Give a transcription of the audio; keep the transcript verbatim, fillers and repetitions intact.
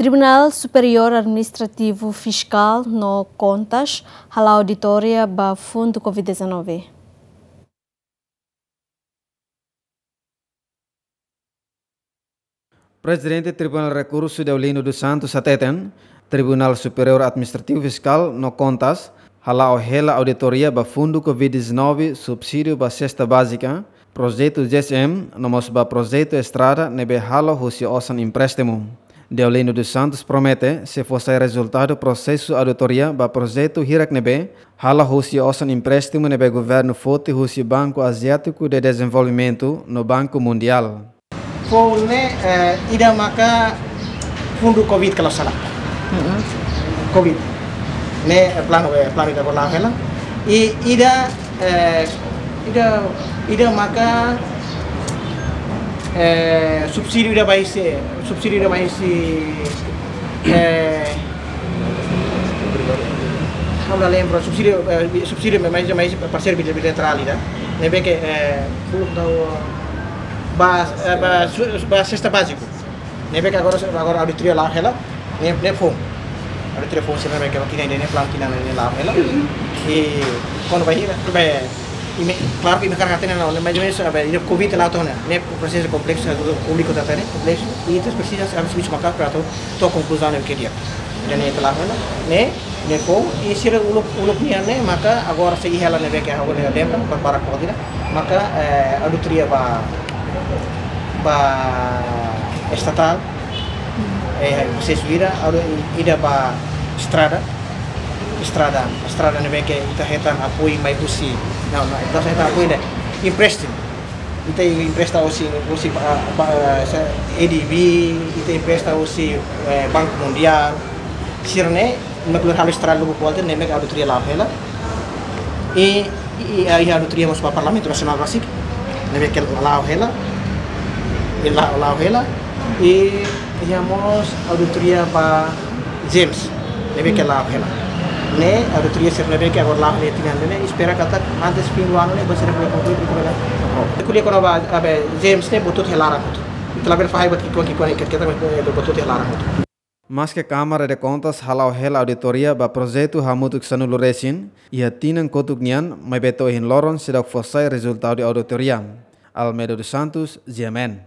Tribunál Superiór Administrativu Fiskál no Kontas hala'o auditoria ba fundu covid dezanove. Prezidente Tribunál Rekursu Deolino dos Santos hateten, Tribunál Superiór Administrativu Fiskál no Kontas hala'o hela auditoria ba fundu covid dezanove, subsídiu ba sesta bázika, projetu G S M, no mós ba projetu estrada ne'ebé halo husi osan empréstimu. Deolino dos Santos promete, se fó sai rezultadu prosesu auditoria ba projetu hirak ne'ebé halo husi osan empréstimu ne'ebé governu foti husi Banku Aziátiku de Dezenvolvimentu no Banku Mundiál. Foun ne'e, eh, ida maka fundu covid kalau salah. Covid. Ne'e, eh, planu, eh, planu ida bola hela. I ida, eh, ida, ida maka, eh, subsídiu ida ba husi, subsídiu ida ba husi, eh, ha'u la lembra, subsídiu, eh, subsídiu mai, mai, mai parseiru bil-, bilaterál ida. Ne'ebé ke, eh, belum tahu, ba, eh, ba, su-, ba sesta báziku. Ne'ebé ke agora, agora auditoria la'o hela, ne'e, ne'e foun. Auditoria foun sira ne'ebé ke ba tinan ida-ne'e, planu tinan ida-ne'e la'o hela. I kuandu ba hira, ba, imi, klaru ke imi hakarak hatene ona, mais ou menus, ba, ida covid la'o to'o ona, ne'e prosesu kompleksu, públiku atu hatene, kompleksu. I ita presiza, sabe, servisu maka'as para atu to'o konkluzaun ne'ebé ke di'ak. Ida-ne'e ita la'o hela, ne'e, ne'e foun, i sira uluk, uluk nian ne'e, maka agora sei hela ne'ebé ke ha'u lembra, ba, para kau tidak, maka, eh, auditoria ba, ba estatál, eh, prosesu ida, audit ida ba estrada, estrada, estrada ne'ebé ke ita hetan apoiu mai husi, no, no, ita hetan apoiu ne'e, empréstimu. Ita empresta husi, husi ba, ba, se-, A D B, ita empresta husi, eh, Banku Mundiál. Sira-ne'e, mak halo estrada lubuk kualter, ne'e mak auditoria la'o hela. I, i, i, i auditoria mós ba Parlamentu Nasionál rasik, ne'ebé ke la'o hela. I la-, la'o hela. I, i iha mós auditoria ba GEMS, ne'ebé ke la'o hela. Ne'e auditoria sira ne'ebé ke agora la'o hela tinan ne'e, espera katak antes fim do ano ne'e, ba sira bele konklui, bele ko'alia kona-ba, abe, GEMS ne'e, buat hotu iha laran hotu. Ita labele fahe buat ki'ikoan, ki'ikoan, ket-, ket-, buat hotu iha laran hotu. Maske Kámara de Kontas hala'o hela auditoria ba projetu hamutuk sanulu resin, iha tinan kotuk nian, maibé to'o ohin loron seidauk fó sai rezultadu auditoria. Almeida dos Santos, G M N.